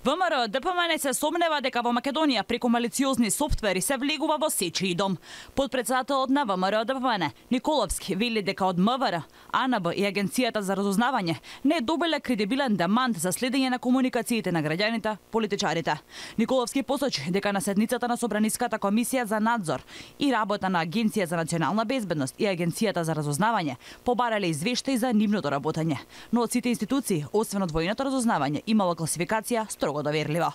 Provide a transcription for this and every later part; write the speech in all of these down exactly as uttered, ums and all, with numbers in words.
ВМРО Д П М Н се сомнева дека во Македонија преку малициозни софтвери се влегува во сечи дом. Подпредседателот на ВМРО Д П М Н Николовски вели дека од М В Р, А Н Б и Агенцијата за разузнавање не добиле кредибилен демант за следење на комуникациите на граѓаните, политичарите. Николовски посочи дека на седницата на Собраниската комисија за надзор и работа на Агенција за национална безбедност и Агенцијата за разузнавање побарале извештаи за нивното работење, но од сите институции, освен од војното разузнавање, имало класификација строго доверлива.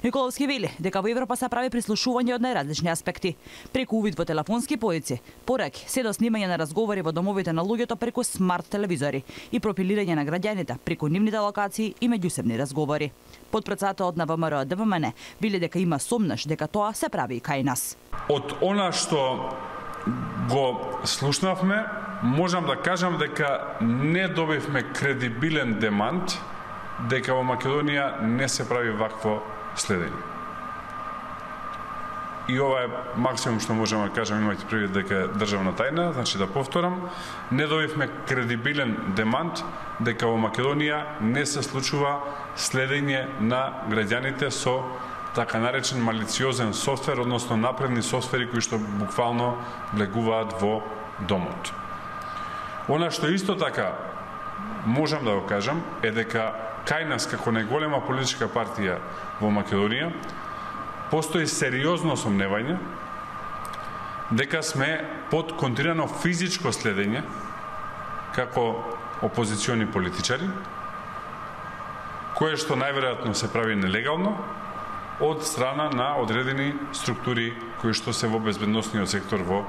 Николовски вели дека во Европа се прави прислушување од најразлични аспекти, преку увид во телефонски поици, пораки, се до снимање на разговори во домовите на луѓето преку смарт телевизори и пропилирање на граѓаните преку нивните локации и меѓусебни разговори. Подпредседателот на ВМРО Д П М Н вели дека има сомнеш дека тоа се прави и кај нас. Од она што го слушнавме, можам да кажам дека не добивме кредибилен демант дека во Македонија не се прави вакво следење. И ова е максимум што можеме да кажам, имајте предвид дека е државна тајна, значи да повторам, не добивме кредибилен демант дека во Македонија не се случува следење на граѓаните со така наречен малициозен софтвер, односно напредни софтвери кои што буквално влегуваат во домот. Она што исто така можам да го кажам е дека кај нас како најголема политичка партија во Македонија постои сериозно сомневање дека сме под континуирано физичко следење како опозициони политичари, кое што најверојатно се прави нелегално од страна на одредени структури кои што се во безбедносниот сектор во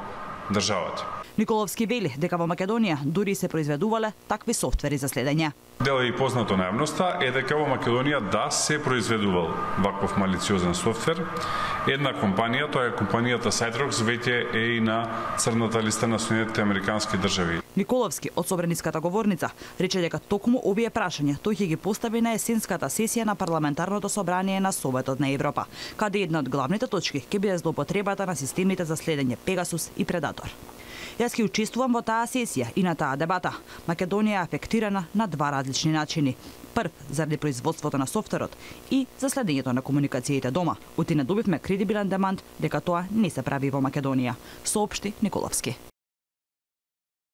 државата. Николовски вели дека во Македонија дури се произведувале такви софтвери за следење. Дел и познато на јавноста е дека во Македонија да се произведувал ваков малициозен софтвер. Една компанија, тоа е компанијата Сайтрокс, веќе е и на црната листа на Соединетите американски држави. Николовски од Собраниската говорница рече дека токму овие прашања тој ќе ги постави на есенската сесија на парламентарното собрание на Советот на Европа, каде една од главните точки ќе биде злоупотребата на системите за следење Пегасус и Предатор. Јас ќе учествувам во таа сесија и на таа дебата. Македонија е афектирана на два различни начини. Прв, заради производството на софтверот и за следењето на комуникациите дома. Оти не добивме кредибилен демант дека тоа не се прави во Македонија, соопшти Николовски.